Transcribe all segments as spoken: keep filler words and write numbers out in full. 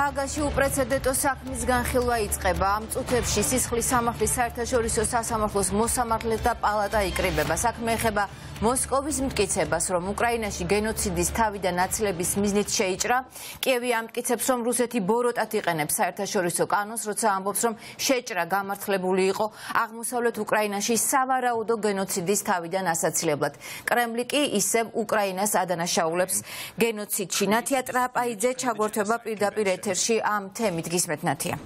ჰააგაში უპრეცედენტო საქმის განხილვა იწყება. ამ წუთებში სისხლის სამართლის საერთაშორისო სასამართლოს მოსამართლეთა პალატა იკრიბება. საქმე ეხება მოსკოვის მტკიცებას, რომ უკრაინაში გენოციდის თავიდან აცლების მიზნით შეიჭრა. კიევი ამტკიცებს, რომ რუსეთი ბოროტად იყენებს საერთაშორისო კანონს, როცა ამბობს, რომ შეჭრა გამართლებული იყო აღმოსავლეთ უკრაინაში სავარაუდო გენოციდის თავიდან ასაცილებლად. კრემლი კი ისევ უკრაინას ადანაშაულებს გენოციდში. ნათია ტრაპაიძე ჩაგვერთვება პირდაპირ ეთერში ამ თემით. გისმენთ ნათია.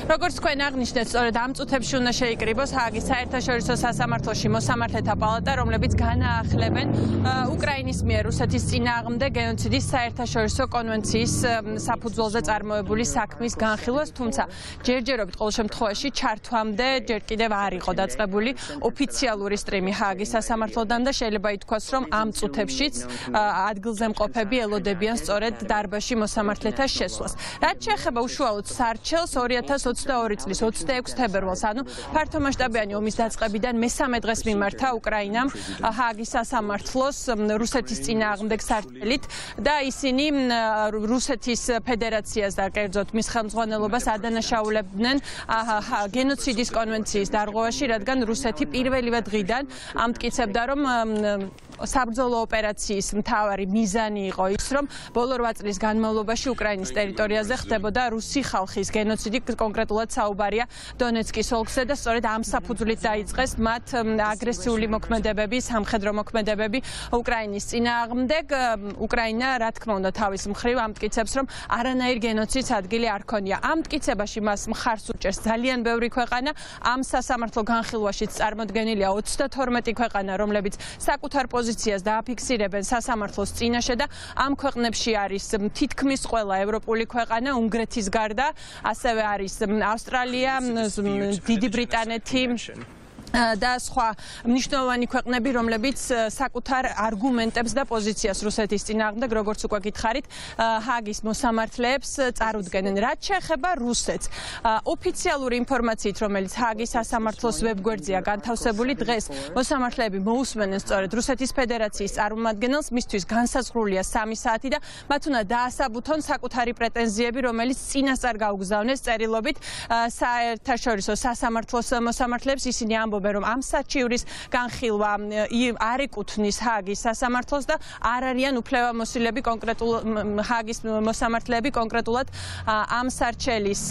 როგორც თქვენ აღნიშნეთ, სწორედ ამ წუთებში უნდა შეიკრიბოს ჰააგის საერთაშორისო სასამართლოში მოსამართლეთა პალატა, რომლებიც განაახლებენ უკრაინის მიერ რუსეთის წინააღმდეგ გენოციდის საერთაშორისო კონვენციის საფუძველზე წარმოებული საქმის განხილვას, თუმცა ჯერჯერობით ყოველ შემთხვევაში ჩართვამდე ჯერ კიდევ არ იყო დაწყებული ოფიციალური სტრიმი ჰააგის სასამართლოდან და შეიძლება ითქვას, რომ ამ წუთებშიც ადგილზე მყოფები ელოდებიან სწორედ დარბაზში მოსამართლეთა შესვლას. რაც შეეხება უშუალოდ სარჩელს, ორი ათას ოცდაორი წლის ოცდაექვსი თებერვალს, ანუ ფართომასშტაბიანი ომის დაწყებიდან მესამე დღეს მიმართა უკრაინამ ჰააგის სასამართლოს რუსეთის წინააღმდეგ სარჩელით და ისინი რუსეთის ფედერაციას და კერძოდ მის ხელმძღვანელობას ადანაშაულებდნენ გენოციდის კონვენციის დარღვევაში, რადგან რუსეთი პირველივე დღიდან ამტკიცებდა, რომ საბრძოლო ოპერაციის მთავარი მიზანი იყო ის, რომ ბოლო რვა წლის განმავლობაში უკრაინის ტერიტორიაზე ხდებოდა რუსი ხალხის გენოციდი, კონკრეტულად საუბარია დონეცკის ოლქზე და სწორედ ამ საფუძვლით დაიწყეს მათ აგრესიული მოქმედებები, სამხედრო მოქმედებები უკრაინის წინააღმდეგ. უკრაინა, რა თქმა უნდა, თავის მხრივ ამტკიცებს, რომ არანაირ გენოციდს ადგილი არ ქონია. ამ მტკიცებაში მას მხარს უჭერს ძალიან ბევრი ქვეყანა. ამ სასამართლო განხილვაშიც წარმოდგენილია ოცდათორმეტი ქვეყანა, რომლებიც საკუთარ პოზიციას დააფიქსირებენ სასამართლოს წინაშე და ამ ქვეყნებში არის თითქმის ყველა ევროპული ქვეყანა, უნგრეთის გარდა, ასევე არის ავსტრალია, დიდი ბრიტანეთი და სხვა მნიშვნელოვანი ქვეყნები, რომლებიც საკუთარ არგუმენტებს და პოზიციას რუსეთის წინააღმდეგ, როგორც უკვე გითხარით, ჰააგის მოსამართლეებს წარუდგენენ. რაც შეეხება რუსეთს, ოფიციალური ინფორმაციით, რომელიც ჰააგის სასამართლოს ვებგვერდზეა განთავსებული, დღეს მოსამართლეები მოусმენენ სწორედ რუსეთის ფედერაციის წარმომადგენელს, მისთვის განსაზღვრულია სამი საათი და მათ უნდა დაასაბუთონ საკუთარი პრეტენზიები, რომელიც წინასწარ გაუგზავნეს წერილობით საერთაშორისო სასამართლოს მოსამართლეებს. ისინი ამბობენ, რომ ამ საჩივრის განხილვა არ ეკუთვნის ჰააგის სასამართლოს და არ არიან უფლებამოსილები კონკრეტულ ჰააგის მოსამართლეები კონკრეტულად ამ სარჩელის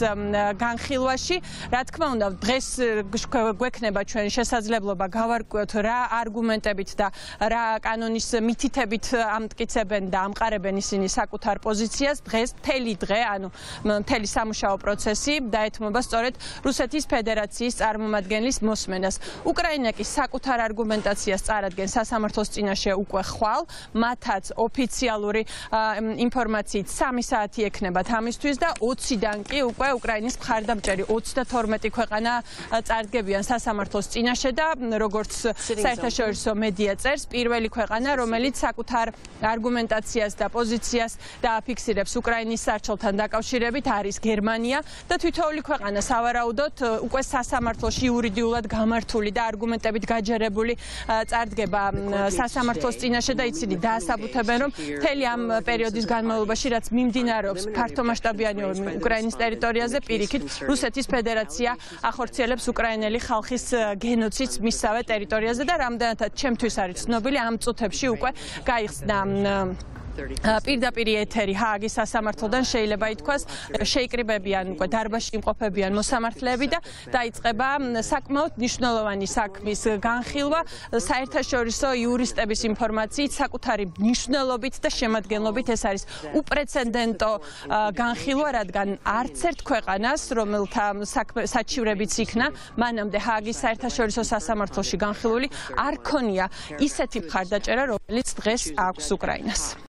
განხილვაში. რა თქმა უნდა, დღეს გვექნება ჩვენ შესაძლებლობა გავარკვიოთ რა არგუმენტებით და რა კანონის მითითებით ამტკიცებენ და ამყარებენ ისინი საკუთარ პოზიციას. დღეს მთელი დღე, ანუ მთელი სამუშაო პროცესი დაეთმობა სწორედ რუსეთის ფედერაციის წარმომადგენლის მოსმენას. უკრაინა კი საკუთარ არგუმენტაციას წარადგენს სასამართლოს წინაშე უკვე ხვალ, მათაც ოფიციალური ინფორმაციით სამი საათი ექნებათ ამისთვის და ოციდან კი უკვე უკრაინის მხარდამჭერი ოცდათორმეტი ქვეყანა წარდგებიან სასამართლოს წინაშე და როგორც საერთაშორისო მედია წერს, პირველი ქვეყანა, რომელიც საკუთარ არგუმენტაციას და პოზიციას დააფიქსირებს უკრაინის სარჩელთან დაკავშირებით, არის გერმანია და თითოეული ქვეყანა სავარაუდოდ უკვე სასამართლოში იურიდიულად გამართული და არგუმენტებით გაჯერებული წარდგება სასამართლოს წინაშე და ისინი დაასაბუთებენ, რომ მთელი ამ პერიოდის განმავლობაში, რაც მიმდინარეობს ფართომასშტაბიანი ომი უკრაინის ტერიტორიაზე, პირიქით რუსეთის ფედერაცია ახორციელებს უკრაინელი ხალხის გენოციდს მისსავე ტერიტორიაზე და რამდენადაც ჩემთვის არის ცნობილი, ამ წუთებში უკვე გაიხსნა პირდაპირ ეთერი ჰააგის სასამართლოდან, შეიძლება ითქვას, შეიკრიბებიან უკვე დარბაზში იმყოფებიან მოსამართლეები და დაიწყება საკმაოდ მნიშვნელოვანი საქმის განხილვა საერთაშორისო იურისტების ინფორმაციით, საკუთარი მნიშვნელობით და შემადგენლობით. ეს არის უპრეცედენტო განხილვა, რადგან არც ერთ ქვეყანას, რომელთა საჩივრებიც იქნა, მანამდე ჰააგის საერთაშორისო სასამართლოში განხილული არ ქონია ისეთი მხარდაჭერა, რომელიც დღეს აქვს უკრაინას.